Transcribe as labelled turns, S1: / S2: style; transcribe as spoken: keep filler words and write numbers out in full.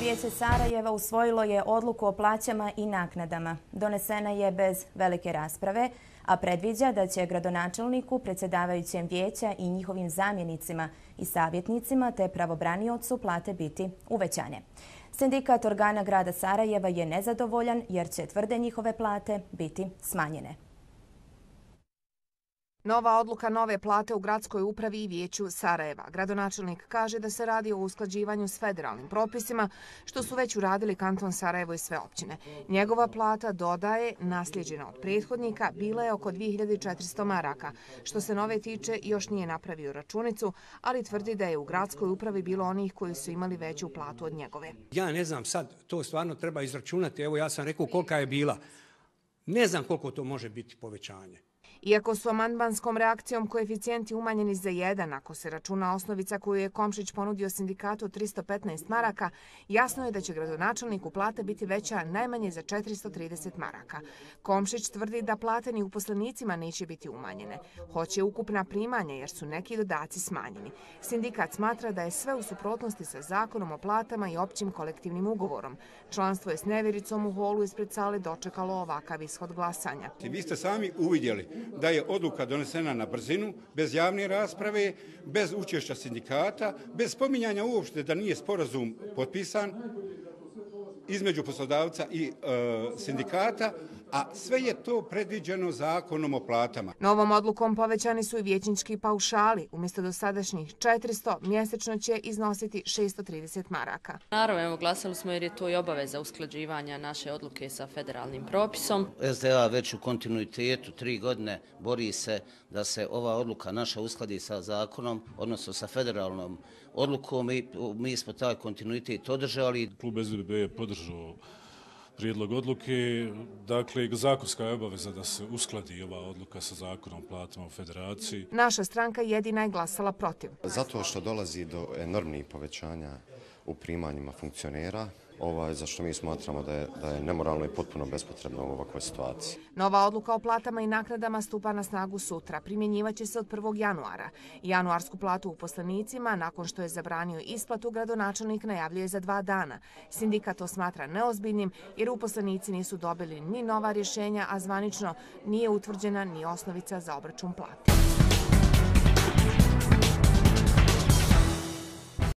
S1: vijeće Sarajeva usvojilo je odluku o plaćama i naknadama. Donesena je bez velike rasprave, a predviđa da će gradonačelniku, predsjedavajućem vijeća i njihovim zamjenicima i savjetnicima te pravobraniocu plate biti uvećane. Sindikat organa grada Sarajeva je nezadovoljan jer će, tvrde, njihove plate biti smanjene.
S2: Nova odluka nove plate u gradskoj upravi i vijeću Sarajeva. Gradonačelnik kaže da se radi o usklađivanju s federalnim propisima, što su već uradili kanton Sarajevo i sve općine. Njegova plata, dodaje, nasljeđena od prethodnika, bila je oko dvije hiljade četiristo maraka. Što se nove tiče, još nije napravio računicu, ali tvrdi da je u gradskoj upravi bilo onih koji su imali veću platu od njegove.
S3: Ja ne znam sad, to stvarno treba izračunati. Evo, ja sam rekao kolika je bila. Ne znam koliko to može biti povećanje.
S2: Iako su amandmanskom reakcijom koeficijenti umanjeni za jedan, ako se računa osnovica koju je Komšić ponudio sindikatu tristo petnaest maraka, jasno je da će gradonačelniku plata biti veća najmanje za četiristo trideset maraka. Komšić tvrdi da plate ni uposlenicima neće biti umanjene. Hoće ukupna primanja jer su neki dodaci smanjeni. Sindikat smatra da je sve u suprotnosti sa zakonom o platama i općim kolektivnim ugovorom. Članstvo je s nevjericom u holu ispred sale dočekalo ovakav ishod glasanja.
S4: Vi ste sami uvidjeli da je odluka donesena na brzinu, bez javne rasprave, bez učešća sindikata, bez spominjanja uopšte da nije sporazum potpisan između poslodavca i e, sindikata, a sve je to predviđeno zakonom o platama.
S2: Novom odlukom povećani su i vijećnički paušali. Umjesto dosadašnjih četiristo, mjesečno će iznositi šesto trideset maraka.
S5: Naravno, evo, glasali smo jer je to i obaveza usklađivanja naše odluke sa federalnim propisom.
S6: S D A već u kontinuitetu tri godine bori se da se ova odluka naša uskladi sa zakonom, odnosno sa federalnom odlukom i mi smo taj kontinuitet održali.
S7: Klub S D B je podržao prijedlog odluke, dakle zakonska je obaveza da se uskladi ova odluka sa zakonom o platama u federaciji.
S2: Naša stranka jedina je glasala protiv.
S8: Zato što dolazi do enormnih povećanja u primanjima funkcionera, ovaj, za što mi smatramo da je, da je nemoralno i potpuno bespotrebno u ovakvoj situaciji.
S2: Nova odluka o platama i naknadama stupa na snagu sutra. Primjenjivaće se od prvog januara. Januarsku platu uposlenicima, nakon što je zabranio isplatu, gradonačelnik najavljuje za dva dana. Sindikat to smatra neozbiljnim jer uposlenici nisu dobili ni nova rješenja, a zvanično nije utvrđena ni osnovica za obračun plate.